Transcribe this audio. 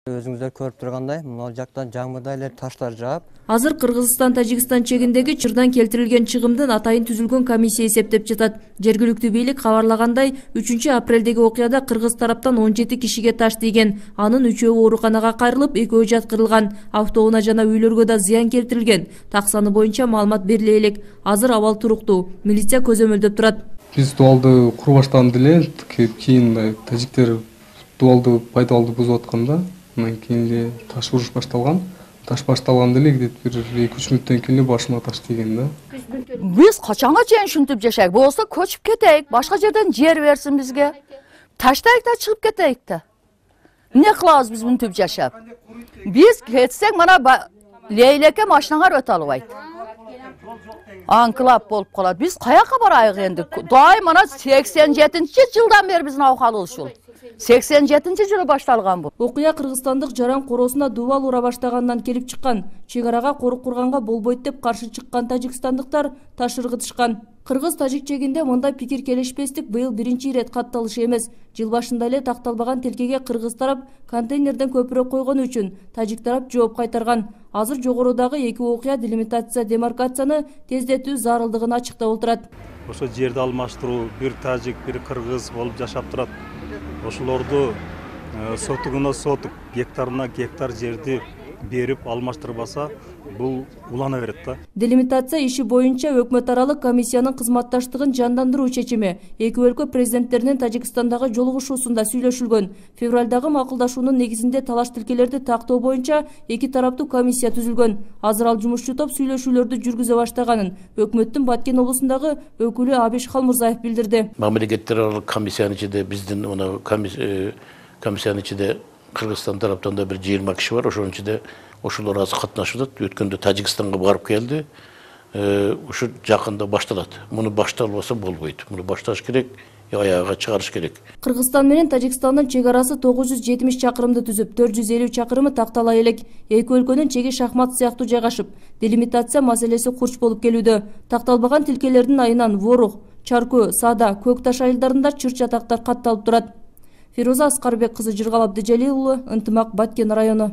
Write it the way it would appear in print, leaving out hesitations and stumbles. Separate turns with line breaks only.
Өзүңүздөр көрүп тургандай, мына жактан жаңбырда эле таштар жаап.
Азыр Кыргызстан-Тажикстан чегиндеги чырдан келтирилген чыгымдын атайын түзүлгөн комиссия эсептеп жатат. Жергиликтүү бийлик кабарлагандай, 3-апрелдеги окуяда кыргыз тараптан 17 кишиге таш тийген. Анын 3-өө ооруканага кайрылып, 2-өө жаткырылган. Автоунаа жана үйлөргө да зыян келтирилген. Так саны боюнча маалымат бериле элек. Азыр абал туруктуу. Милиция көзөмөлдөп турат.
Биз дуалды куруу баштаганда эле кийин тажиктер дуалды пайдалуу бузуп атканда, андан кийин таш уруш башталган. Таш башталганда эле бир 2-3 мүнөттөн кийин башыма таш тийген да.
Биз качанга чейин ушинтип жашайык? Болсо көчүп кетейик, башка жерден жер берсин бизге. Таштайык да чыгып кетейик да. Эмне кылабыз биз мынтип жашап? Биз кетсек мана Лейлеке машинаңар өтө албайт. Анклап болуп калат. Биз каяка барайык энди? Дай мана 87-жылдан бери биздин абкалы ушул. 87-жылы башталган бул.
Окуя кыргызстандык жаран коросуна дубал ура баштагандан келип чыккан. Чек арага корук курганга болбойт деп каршы чыккан тажикстандыктар таш ыргытышкан. Кыргыз-тажик чегинде мындай пикир келишпестик быйыл биринчи ирет катталышы эмес. Жыл башында эле такталбаган тилкеге кыргыз тарап контейнерден көпүрөөк койгону үчүн тажик тарап жооп кайтарган. Азыр жогорудагы эки окуя делимитация демаркацияны тездетүү зарылдыгын ачыктап отурат.
Ошо жерди алмаштыруу, бир тажик, бир кыргыз болуп жашап турат. Ошолорду сотугуна сотук, гектарына гектар жерди берип алмаштырбаса, бул улана берет да.
Делимитация иши боюнча өкмөт аралык комиссиянын кызматташтыгын жандандыруу чечими эки өлкө президенттеринин Тажикстандагы жолугушуусунда сүйлөшүлгөн. Февралдагы макулдашуунун негизинде талаш тилкелерди тактоо боюнча эки тараптуу комиссия түзүлгөн. Азыр ал жумушчу топ сүйлөшүүлөрдү жүргүзө баштаганын өкмөттүн Баткен облусундагы өкүлү Абиш Халмурзаев билдирди.
Мамлекеттер аралык комиссиянын ичинде биздин комиссиянын ичинде Кыргызстан тараптан да бир 20 киши бар. Ошонун ичинде ошолор азыр катнашып атат. Өткөндө Тажикстанга барып келди. Ушу жакында башталат. Муну башталбаса болбойт. Муну башташ керек, аягына чыгарыш керек.
Кыргызстан менен Тажикстандын чек арасы 970 чакырымды түзүп, 450 чакырымы тактала элек. Эки өлкөнүн чеги шахмат сыяктуу жайгашып, делимитация маселеси курч болуп келүүдө. Такталбаган тилкелердин айынан Ворух, Чаркөө, Саада, Көк Таш айылдарында чыр-чатактар катталып турат. Фируза Аскарбек кызы, Жыргал Абдыжалил уулу, Ынтымак, Баткен району.